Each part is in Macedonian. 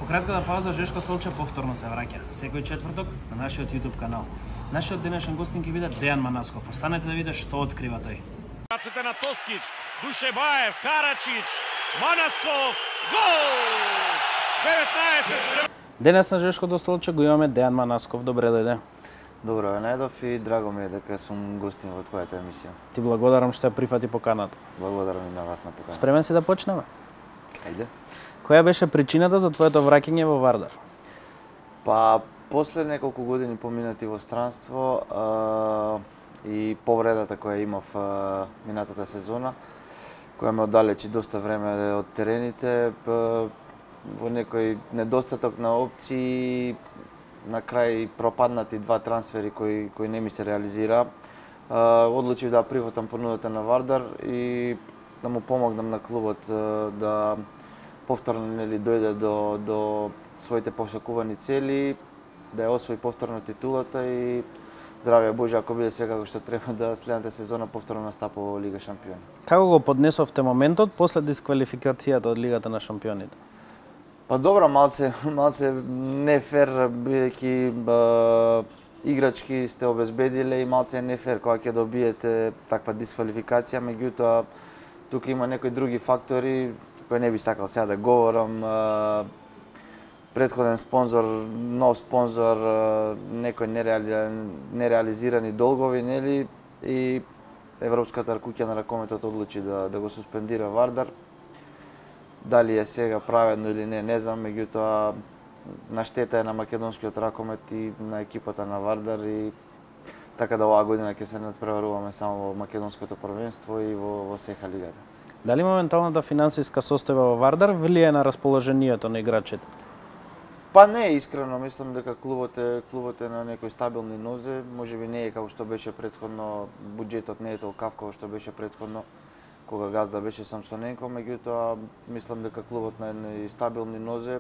кратката пауза Жешко Столче повторно се враќа, секој четврток на нашиот YouTube канал. Нашиот денешен гостин ќе биде Дејан Манасков. Останете да видите што открива тој. Рацете на Тоскич, Душебаев, Карачич, Манасков, гол! 19. Денес на Жешкото Столче го имаме Дејан Манасков. Добре дојде. Добро ве најдов и драго ми е дека сум гостин во твојата емисија. Ти благодарам што ја прифати поканата. Благодарам и на вас на поканата. Спремен си да почнеме? Ајде. Која беше причината за твоето враќање во Вардар? Па, после неколку години поминати во странство и повредата која имав минатата сезона, која ме оддалечи доста време од терените, во некој недостаток на опции, на крај пропаднати два трансфери кои не ми се реализира, одлучив да прифатам понудата на Вардар и да му помогнам на клубот да повторно дојде до своите посакувани цели, да ја освои повторно титулата и здравје Боже, ако биде све како што треба, да следната сезона повторно настапува во Лига Шампиони. Како го поднесовте моментот после дисквалификацијата од Лигата на Шампионите? Па добро, малце не фер, бидејќи играчки сте обезбедиле и малце не фер кога ќе добиете таква дисквалификација, меѓутоа тука има некои други фактори кои не би сакал сега да говорам. Претходен спонзор, нов спонзор, некои нереализирани долгови, нели, и Европската куќа на ракометот одлучи да го суспендира Вардар. Дали е сега праведно или не знам, меѓутоа на штета е на македонскиот ракомет и на екипата на Вардар и така да оваа година ќе се надпреваруваме само во македонското првенство и во сеха лигата. Дали моменталната финансиска состојба во Вардар влие на расположението на играчите? Па не, искрено мислам дека клубот е на некои стабилни нозе, можеби не е како што беше претходно, буџетот не е толкав како што беше претходно кога газда беше Самсоненко, меѓутоа мислам дека клубот на едни стабилни нозе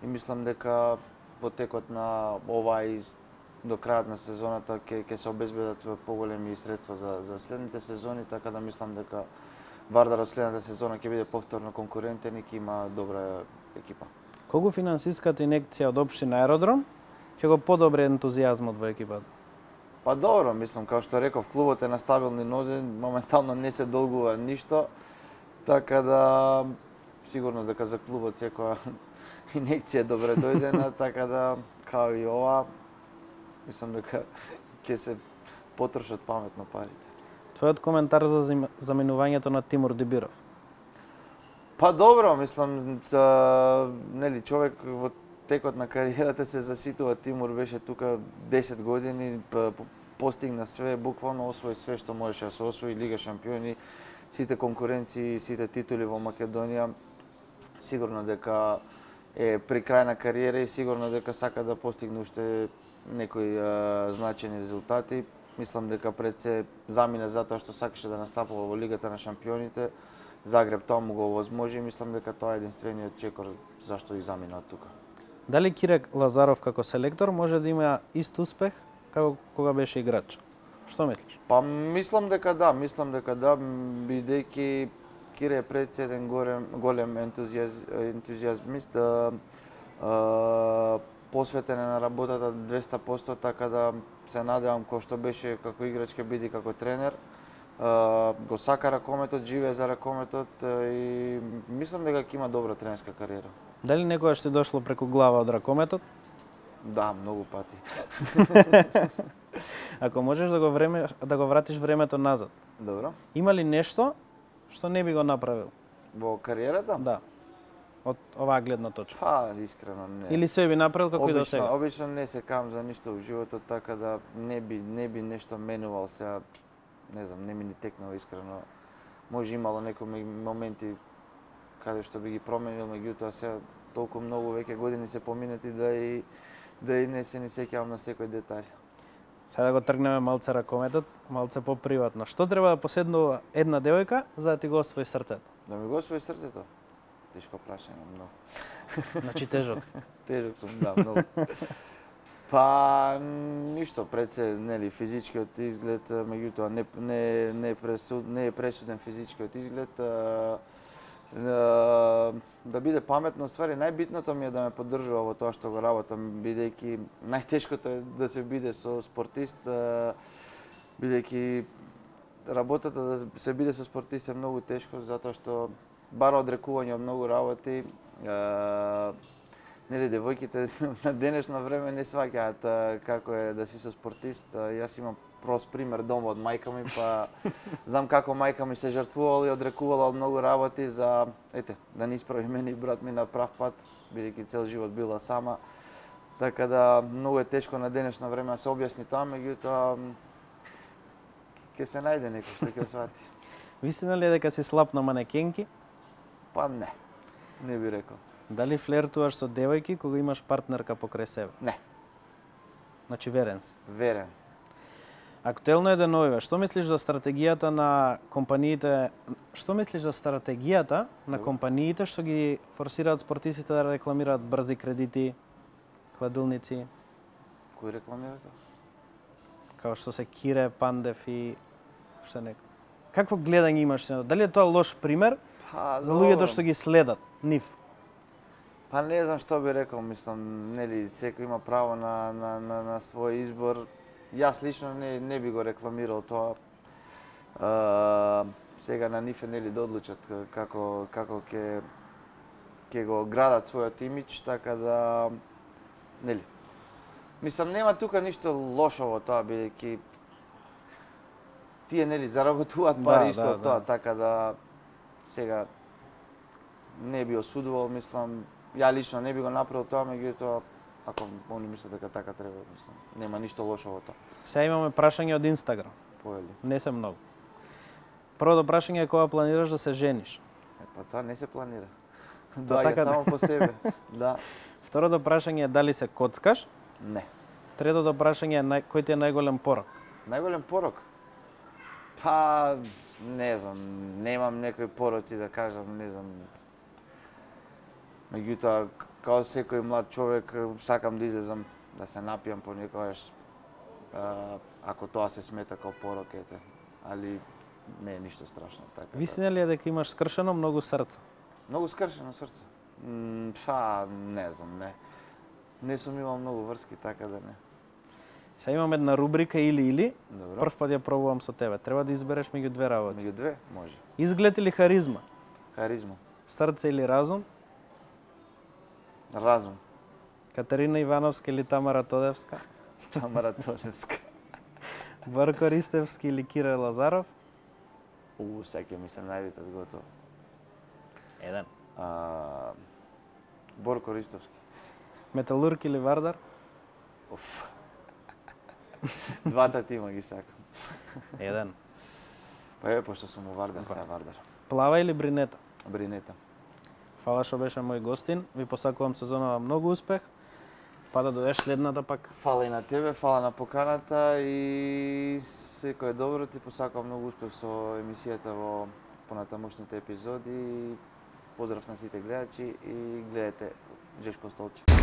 и мислам дека во текот на ова и до крајот на сезоната ќе се обезбедат поголеми средства за следните сезони, така да мислам дека Вардар од следната сезона ќе биде повторно конкурентен и ќе има добра екипа. Колку финансиската инекција од општина Аеродром ќе го подобри ентузијазмот во екипата? Па добро, мислам, како што реков, клубот е на стабилни нозе, моментално не се долгува ништо, така да сигурно дека за клубот секоја инекција е добре дојдена, така да, као и ова, мислам дека ќе се потрошат паметно парите. Твојот коментар за заменувањето на Тимур Дибиров? Па добро, мислам, нели, човек во текот на кариерата се заситува. Тимур беше тука 10 години, постигна све, буквално освои све што можеше да се освои, Лига Шампиони, сите конкуренции, сите титули во Македонија. Сигурно дека е при крај на кариера и сигурно дека сака да постигне уште некои значени резултати. Мислам дека пред се замина затоа што сакаше да настапува во Лигата на Шампионите. Загреб тоа му го овозможи и мислам дека тоа е единствениот чекор зашто и замина од тука. Дали Кире Лазаров како селектор може да има ист успех како кога беше играч? Што мислиш? Па мислам дека да, бидејќи Кире е пред еден голем ентузијазмист, посветен на работата 200%, така да се надевам кој што беше како играч ќе биде како тренер. Го сака ракометот, живее за ракометот и мислам дека ќе има добра тренерска кариера. Дали некогаш ти дошло преку глава од ракометот? Да, многу пати. Ако можеш да го вратиш времето назад. Добро. Има ли нешто што не би го направил? Во кариерата? Да. Од оваа гледна точка. Па, искрено не. Или се би направил како и до сега? Обично не се кам за ништо во животот, така да не би нешто менувал сега. Не знам, не ми ни текнало искрено. Може имало некои моменти каде што би ги променил, меѓутоа сега толку многу веќе години се поминати да и не се ни сеќавам на секој детаљ. Сега да го тргнеме малце ракометот, малце поприватно. Што треба да поседнува една девојка за да ти го освои срцето? Да ми го освои срцето? Тешко прашање, многу. Значи тежок си. Тежок сум, да, многу. Па ништо, пред се, нели, физичкиот изглед, меѓутоа не е пресуден физичкиот изглед. Да биде паметно, ствари најбитното ми е да ме поддржува во тоа што го работам, бидејќи најтешкото е да се биде со спортист, бидејќи работата да се биде со спортист е многу тешко затоа што бара одрекување од многу работи. Нели девојките на денешно време не сваќаат како е да си со спортист. Јас имам прост пример дома од мајка ми, па знам како мајка ми се жртвувала и одрекувала од многу работи за да не исправи мене и брат ми на прав пат, бидејќи цел живот била сама. Така да многу е тешко на денешно време да се објасни тоа, меѓутоа ќе се најде некој што ќе свати. Вистина ли е дека си слаб на манекенки? Па не би рекол. Дали флертуваш со девојки кога имаш партнерка покрај себе? Не. Значи верен си. Верен. Актуелно е деновиве. Што мислиш за стратегијата на компаниите? Што мислиш за стратегијата на компаниите што ги форсираат спортистите да рекламираат брзи кредити, кладилници? Кој рекламира тоа? Као што се Кире, Пандев и што некој. Какво гледање имаш? Дали е тоа лош пример за луѓето што ги следат нив? Па не знам што би рекол, мислам, нели секој има право на свој избор. Јас лично не би го рекламирал тоа. Сега на нив е нели да одлучат како ќе го градат својот имидж, така да нели. Мислам нема тука ништо лошо во тоа, бидејќи тие нели заработуваат пари исто од тоа, така да сега не би осудувал, мислам, ја лично не би го направил тоа, меѓутоа ако они мислат дека така треба, мислам, нема ништо лошо во тоа. Сега имаме прашање од Инстаграм. Поели. Не се многу. Првото прашање е кога планираш да се жениш? Па тоа не се планира. Доаѓа така само по себе. Да. Второто прашање е дали се коцкаш? Не. Третото прашање е кој ти е најголем порок? Најголем порок? Па не знам, немам некои пороци да кажам, не знам. Меѓутоа, као секој млад човек, сакам да излезам, да се напијам понекогаш, ако тоа се смета као порок, али не е ништо страшно. Така, Вистина ли е дека имаш скршено многу срце? Многу скршено срце? Па, не знам, не. Не сум имал многу врски, така да не. Сега имам една рубрика или. Добро. Прв пат ја пробувам со тебе. Треба да избереш меѓу две работи. Меѓу две? Може. Изглед или харизма? Харизма. Срце или разум? Разум. Катерина Ивановска или Тамара Тодевска? Тамара Тодевска. Борко Ристевски или Кире Лазаров? Сега ми се најдете готово. Еден. Борко Ристовски. Металург или Вардар? Уф. Двата тима ги сакам. Еден. Па пошто сум у Вардар, сега Вардар. Плава или бринета? Бринета. Фала што беше мој гостин. Ви посакувам сезонава многу успех. Па да дојдеш следната пак. Фала и на тебе, фала на поканата и секој добро, ти посакувам многу успех со емисијата во понатамошните епизоди. Поздрав на сите гледачи и гледате Жешко столче.